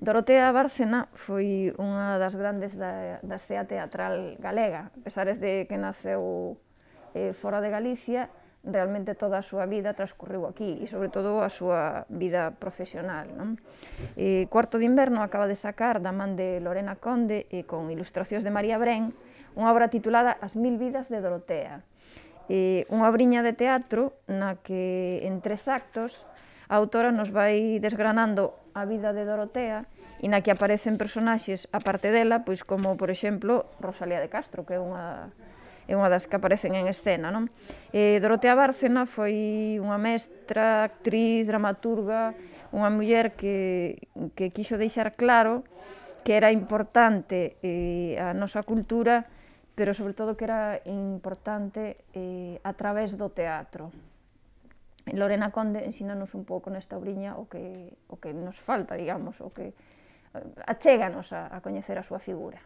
Dorotea Bárcena foi unha das grandes da escena teatral galega. A pesar de que naceu fora de Galicia, realmente toda a súa vida transcurriu aquí e, sobre todo, a súa vida profesional. Cuarto de Inverno acaba de sacar, da man de Lorena Conde e con ilustracións de María Brén, unha obra titulada As 1000 vidas de Dorotea. Unha obriña de teatro na que, en 3 actos, a autora nos vai desgranando a vida de Dorotea e na que aparecen personaxes, aparte dela, pois como, por exemplo, Rosalía de Castro, que é unha das que aparecen en escena. Dorotea Bárcena foi unha mestra, actriz, dramaturga, unha muller que quixo deixar claro que era importante a nosa cultura, pero sobre todo que era importante a través do teatro. Lorena Conde ensínanos un pouco nesta obriña o que nos falta, digamos, o que achéganos a coñecer a súa figura.